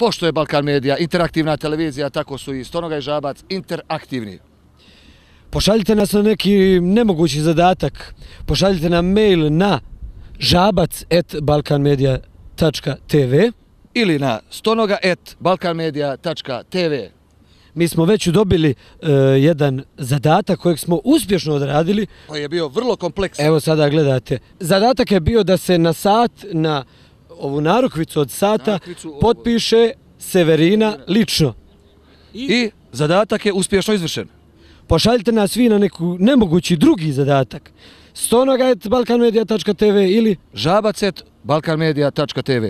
Pošto je Balkan Media interaktivna televizija, tako su i Stonoga i Žabac interaktivni. Pošaljite nas na neki nemogući zadatak. Pošaljite nam mail na žabac@balkanmedia.tv Ili na stonoga@balkanmedia.tv. Mi smo već dobili jedan zadatak kojeg smo uspješno odradili. Koji je bio vrlo kompleksan. Evo sada gledate. Zadatak je bio da se na sat, na ovu narukvicu od sata, potpiše Severina lično. I zadatak je uspješno izvršen. Pošaljite nas vi na neku nemogući drugi zadatak. stonoga@balkanmedia.tv ili žabac@balkanmedia.tv.